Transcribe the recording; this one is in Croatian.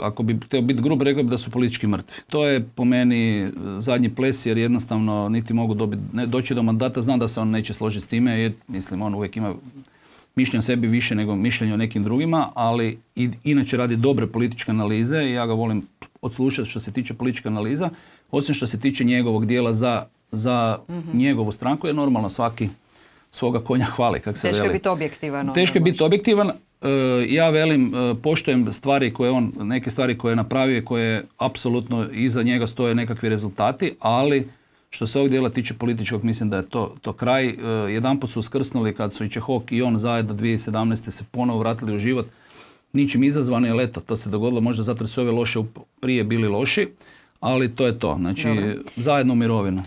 ako bi htio biti grub, rekao bi da su politički mrtvi. To je po meni zadnji ples, jer jednostavno niti mogu doći do mandata. Znam da se on neće složiti s time, jer mislim on uvijek ima mišljenje o sebi više nego mišljenje o nekim drugima, ali inače radi dobre političke analize i ja ga volim odslušati što se tiče političke analiza, osim što se tiče njegovog dijela za njegovu stranku, jer normalno svaki svoga konja hvali, kako se veli. Teško je biti objektivan. Teško je biti objektivan. Ja velim, poštujem stvari koje neke stvari koje je napravio, koje apsolutno iza njega stoje nekakvi rezultati, ali što se ovog dijela tiče političkog, mislim da je to kraj. Jedanput su uskrsnuli kad su i Čehok i on zajedno 2017. se ponovo vratili u život, ničim izazvani, ali eto, to se dogodilo možda zato jer su ove loše prije bili loši, ali to je to. Znači, zajedno u mirovinu.